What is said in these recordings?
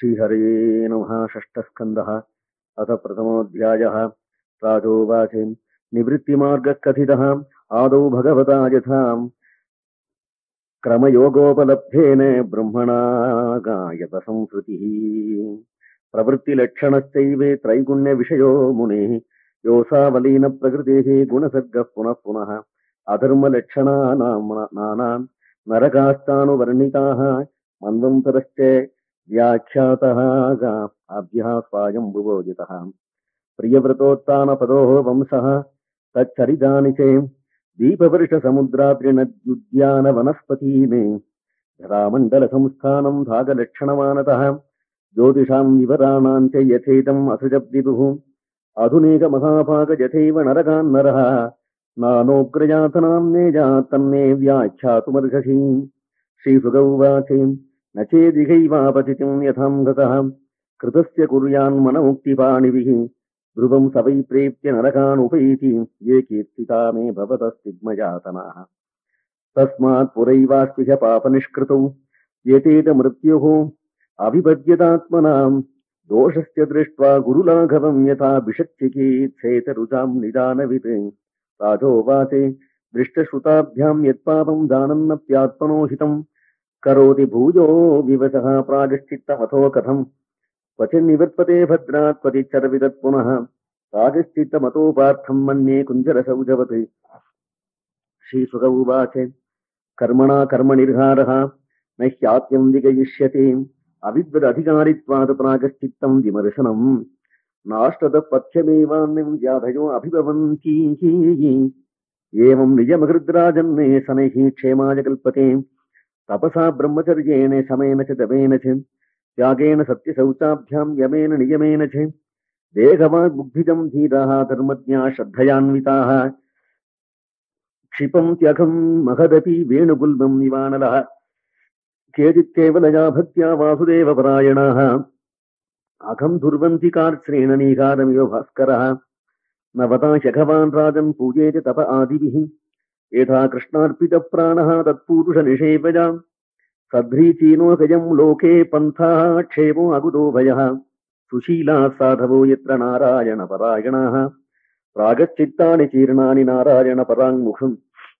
श्रीहरये नमः। षष्ठस्कन्धः अथ प्रथमोऽध्यायः। राजोवाच निवृत्तिमार्गः कथितः आदौ भगवता यथा क्रमयोगोपलब्धेन ब्रह्मणा गायत संस्कृतिः प्रवृत्तिलक्षणश्चैव त्रैगुण्यविषयो मुनेः योऽसावलीन प्रकृतेः गुणसर्गः पुनः पुनः अधर्मलक्षणानां नरकाश्चानुवर्णिताः मन्वन्तरश्च व्याख्यातः अभ्यः स्वायम्भुवोदितः प्रियव्रतोत्तानपदोः वंशः तच्चरितानि च दीपवर्षसमुद्राद्रिनद्युद्यानवनस्पतीने धरामण्डलसंस्थानं भागलक्षणमानतः ज्योतिषां विवराणां च यथेदम् असृजद्विदुः आधुनिकमहाभागयथैव नरकान् नरः नानोग्रयातनां नेजातन्ने व्याख्यातुमर्हसि। श्रीसुक उवाच न चेदिहैवापतितं यथां गतः कृतस्य कुर्यान्मनमुक्तिपाणिभिः ध्रुवं स वै प्रेत्य नरकान् उपैति ये कीर्तिता मे भवतस्तिग्मयातनाः तस्मात् पुरैवास्तिह पापनिष्कृतौ एतेत मृत्युः अभिपद्यतात्मनां दोषस्य दृष्ट्वा गुरुलाघवं यथा विषच्चिकीत्सेतरुचां निदानवित् राजोवाच दृष्टश्रुताभ्यां यत्पापं जानन्नप्यात्मनो हितं करोति भूयो विवशः प्रायश्चित्तमथो कथम् क्वचिन्निवर्तते भद्रात् क्वचिच्चरविदत् पुनः प्रायश्चित्तमतोपार्थं मन्ये कुञ्जरसौजवत्। श्रीसुक उवाच कर्मणा कर्मनिर्हारः न ह्यात्यं विगयिष्यते अविद्वदधिकारित्वात् प्रायश्चित्तं विमर्शनम् नाष्टतः पथ्यमेवान्यं व्याधयो अभिभवन्ति एवं निजमहृद्राजन्ने शनैः क्षेमाय कल्पते तपसा ब्रह्मचर्येण शमेन च तपेन च त्यागेन सत्यशौचाभ्यां यमेन नियमेन च देहवाग्बुद्धिजं धीराः धर्मज्ञा श्रद्धयान्विताः क्षिपन्त्यघं महदपि वेणुगुल्मं निवानलः केचित् केवलया भक्त्या वासुदेवपरायणाः अघं दुर्वन्ति कार्श्रेणनीकारमिव भास्करः नवता ह्यघवान् राजन् पूजेत तप आदिभिः यथा कृष्णार्पितप्राणः तत्पूरुषनिषेवजा सध्रीचीनोकजं लोके पन्थाः क्षेमो अकुतो भयः सुशीलाः साधवो यत्र नारायणपरायणाः प्रागच्चित्तानि चीर्णानि नारायणपराङ्मुखम्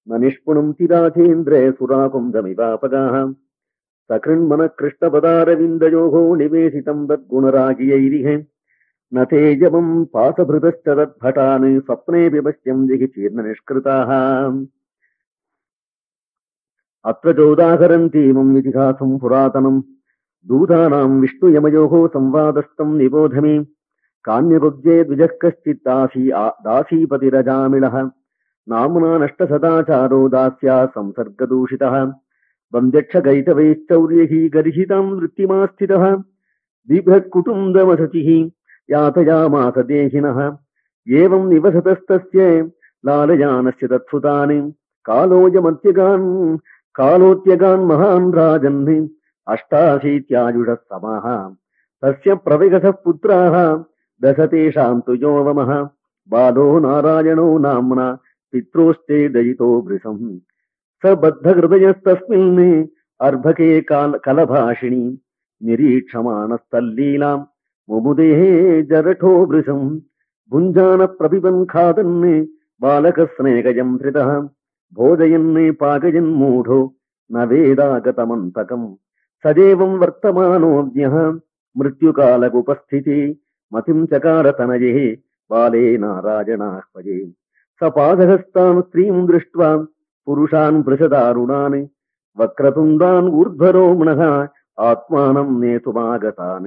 न निष्पुणन्ति राजेन्द्रे सुराकुन्दमिवापगाः सकृन्मनः कृष्णपदारविन्दयोः निवेशितं तद्गुणरागियैरिह न तेजवं पासभृतश्च तद्भटान् स्वप्ने विपश्यं दिगिचीर्णनिष्कृताः अत्र चोदाहरन्तीमम् इतिहासं पुरातनं दूतानां विष्णुयमयोः संवादस्थं निबोधमे कान्यभुज्ये द्विजः कश्चित् दासीपतिरजामिळः नाम्ना नष्टसदाचारो दास्या संसर्गदूषितः वन्द्यक्षगैतवैश्चौर्यैः गर्हितां वृत्तिमास्थितः बिभ्रत्कुटुम्बवसतिः यातयामास देहिनः एवं निवसतस्तस्य लालयानस्य तत्सुतानि कालोत्यगान् महान् राजन् अष्टाशीत्यायुषः समाः तस्य प्रविगतः पुत्राः दश तेषां तु योवमः बालो नारायणो नाम्ना पित्रोस्ते दयितो वृषम् स बद्धहृदयस्तस्मिन् अर्भके कलभाषिणी निरीक्षमाणस्तल्लीलां मुमुदेः जरठो वृषम् भुञ्जान प्रपिबन् खादन् बालकस्नेहजं धृतः भोजयन् पाकयन् मूढो न वेदागतमन्तकम् सदेवं वर्तमानोऽज्ञः मृत्युकालकुपस्थिति मतिं चकारतनये बाले नारायणाह्वये स पादहस्तान् स्त्रीं दृष्ट्वा पुरुषान् वृषदारुणान् वक्रतुण्डान् ऊर्ध्वरोम्णः आत्मानं नेतुमागतान्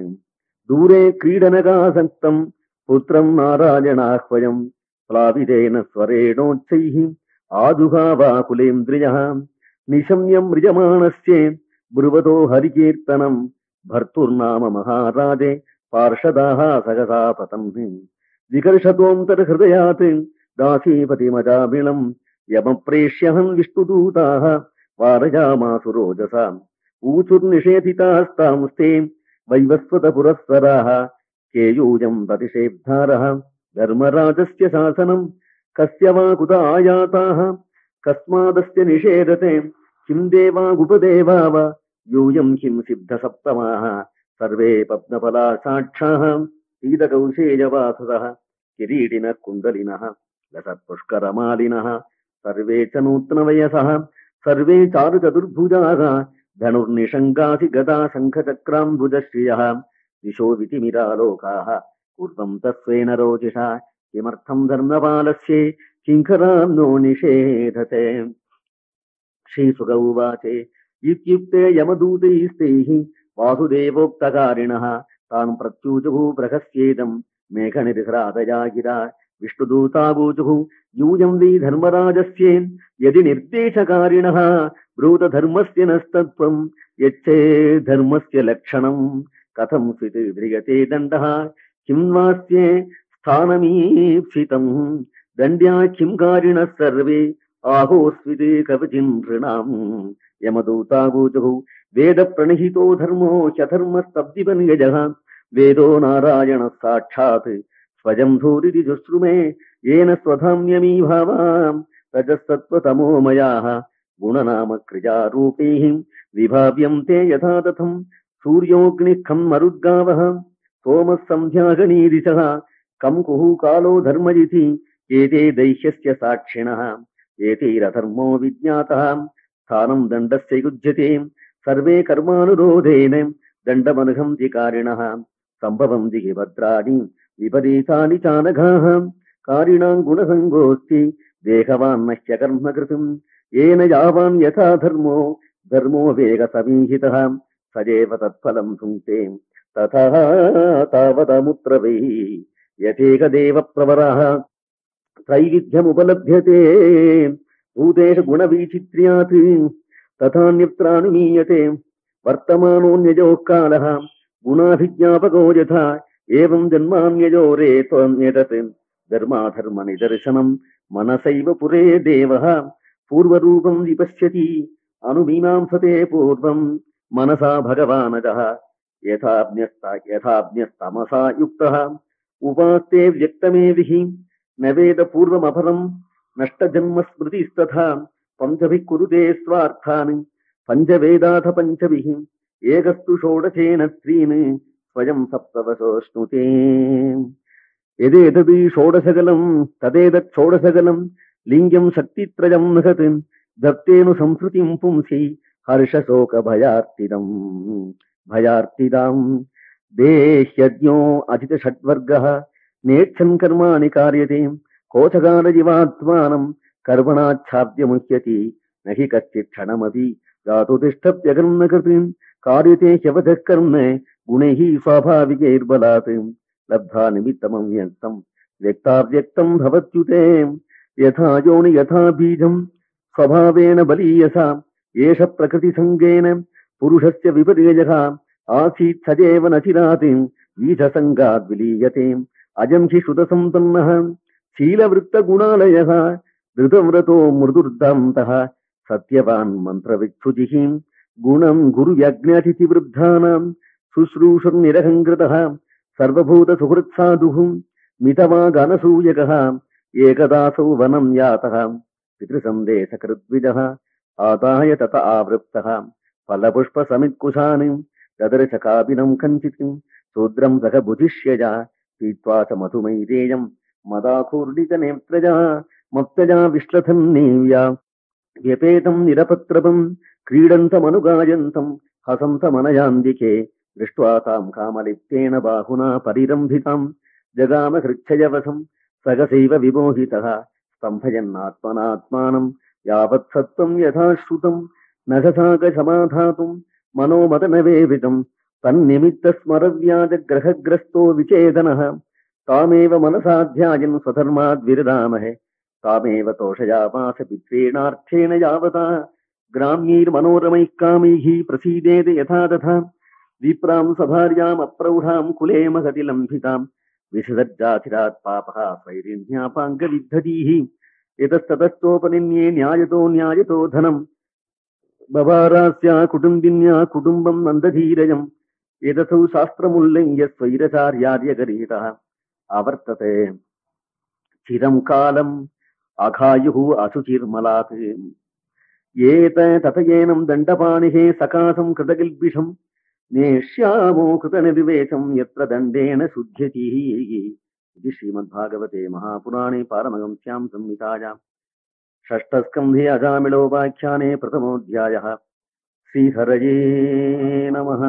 दूरे क्रीडनकासक्तं पुत्रं नारायणाह्वयं प्लावितेन स्वरेणोच्चैः आजुहावाकुलेन्द्रियः निशम्यं मृजमाणस्य ब्रुवतो हरिकीर्तनं भर्तुर्नाम महाराजे पार्षदाः सहसा पतन् विकर्षतोऽन्तर्हृदयात् दासीपतिमजामिळं यमप्रेष्यहं विष्णुदूताः वारयामासु रोजसा ऊचुर्निषेधितास्तांस्ते वैवस्वतपुरःसराः केयूयं प्रतिषेब्धारः धर्मराजस्य शासनं कस्य वा कुत आयाताः कस्मादस्य निषेधते किं देवागुपदेवा वा यूयं किं सिद्धसप्तमाः सर्वे पद्मपलासाक्षाः पीतकौशेयवाससः किरीटिनः कुण्डलिनः लसत्पुष्करमालिनः सर्वे च नूत्नवयसः सर्वे चारुचतुर्भुजाः धनुर्निषङ्गासि गदा शङ्खचक्राम्बुजश्रियः दिशो वितिमिरालोकाः पूर्वं तस्वेन रोचिषा किमर्थं धर्मपालस्ये किङ्करान् नो निषेधते। श्रीसुक उवाच इत्युक्ते यमदूतैस्तैः वासुदेवोक्तकारिणः तान् प्रत्यूचुः बृहस्येदं मेघनिर्घ्रातया गिरा विष्णुदूतावूचुः यूयं वै धर्मराजस्य यदि निर्देशकारिणः ब्रूतधर्मस्य नस्तत्त्वं यच्छे धर्मस्य लक्षणं कथं स्वित् ध्रियते दण्डः किं वास्ये स्थानमीप्सितं दण्ड्या किं कारिणः सर्वे आहोस्विते कवचिन् नृणाम् यमदूतावूचुः वेद प्रणहितो धर्मो ह्यधर्मस्तब्धिपन्यजः वेदो नारायणः साक्षात् स्वयं धूरिति जुश्रुमे येन स्वधाम्यमी भावाम् रजस्तत्त्वतमोमयाः गुणनाम क्रियारूपैः विभाव्यन्ते यथा तथम् सूर्योऽग्निः खम् मरुद्गावः सोमः सन्ध्यागणीदिशः कम् कुः कालो धर्मजिति एते दैह्यस्य साक्षिणः एतैरधर्मो विज्ञातः स्थानं दण्डस्य युज्यते सर्वे कर्मानुरोधेन दण्डमर्हन्ति कारिणः सम्भवन्ति हि भद्राणि विपरीतानि चानघाः कारिणां गुणसङ्गोऽस्ति देहवान् नह्य कर्मकृतम् येन यावान् यथा धर्मो धर्मो वेगसमीहितः सजेव तत्फलं भुङ्क्ते तथा तावदमुत्र वै यथेकदेवप्रवरः त्रैविध्यमुपलभ्यते भूतेषु गुणवैचित्र्यात् तथान्यत्रानुमीयते वर्तमानोऽन्यजोः कालः गुणाभिज्ञापको यथा एवं जन्मान्यजो रेत्वन्यतत् धर्माधर्मनिदर्शनं मनसैव पुरे देवः पूर्वरूपं विपश्यति अनुमीमांसते पूर्वं मनसा भगवानजः यथाज्ञस्तमसा युक्तः उपास्ते व्यक्तमेभिः न वेद पूर्वमपरं नष्टजन्मस्मृतिस्तथा पञ्चभिः कुरुते स्वार्थान् पञ्चवेदाथ पञ्चभिः एकस्तु षोडशेन त्रीन् स्वयं सप्तवशोऽश्नुते यदेतद् षोडशकलं तदेतत् षोडशकलं लिङ्गं शक्तित्रयं महत् दत्तेनु संस्कृतिं पुंसि हर्षशोकभयार्तिदम् भयार्तिदाम् देह्यज्ञो अजितषड्वर्गः नेच्छन् कर्माणि कार्यते कोशकालजिवात्मानं कर्मणाच्छाद्यमुह्यति न हि कश्चित् क्षणमपि धातुतिष्ठप्यकर्मकृत् कार्यते ह्यवधः कर्म गुणैः स्वाभाविकैर्बलात् लब्धा निमित्तमव्यक्तं व्यक्ताव्यक्तं भवत्युते यथा योनि यथा बीजं स्वभावेन बलीयसा एष प्रकृतिसङ्गेन पुरुषस्य विपर्ययः आसीत् सजेव न चिरात् बीजसङ्गाद् विलीयते अजं हि श्रुतसम्पन्नः शीलवृत्तगुणालयः धृतव्रतो मृदुर्दान्तः सत्यवान् मन्त्रविच्छुचिः गुणं गुरुयज्ञातिथिवृद्धानां शुश्रूषुर्निरहङ्कृतः सर्वभूतसुहृत्साधुः मितवागनसूयकः एकदासौ वनं यातः पितृसन्देशकृद्विजः आदाय तत आवृप्तः फलपुष्पसमित्कुशान् ददर्श कापिनं कञ्चित् शूद्रं सह बुधिष्यजा पीत्वा च मधुमैरेयं मदाकूर्णिकनेत्रजा मत्तजा विश्लथन्नेव्या व्यपेतं निरपत्रपं क्रीडन्तमनुगायन्तं हसन्तमनयान्दिके दृष्ट्वा तां कामलिप्तेन बाहुना परिरम्भितां जगाम हृच्छयवसं सगसैव विमोहितः स्तम्भयन्नात्मनात्मानं यावत् सत्त्वं यथा श्रुतं नखसाकसमाधातुं मनोमदनवेवितं तन्निमित्तस्मरव्याजग्रहग्रस्तो विचेदनः तामेव मनसाध्यायन् स्वधर्माद्विरदामहे तामेव तोषयामास पित्रेणार्थेन यावता ग्राम्यैर्मनोरमैः कामैः प्रसीदेत यथा तथा विप्रां सभार्यामप्रौढां कुले महति लम्भितां विसर्जाथिरात् पापः स्वैरिण्यापाङ्गविद्धतीः यतस्ततस्तोपनिन्ये न्यायतो धनं बभारास्या कुटुम्बिन्या कुटुम्बं नन्दधीरजम् एतसौ शास्त्रमुल्लङ्घ्य स्वैरचार्यार्यगरीतः आवर्तते चिरं कालम् अघायुः नेष्यामो कृतनिर्वेशं यत्र दण्डेन शुध्यति इति श्रीमद्भागवते महापुराणे पारमहंस्यां संहितायां षष्ठस्कन्धे अजामिलोपाख्याने प्रथमोऽध्यायः। श्रीहरये नमः।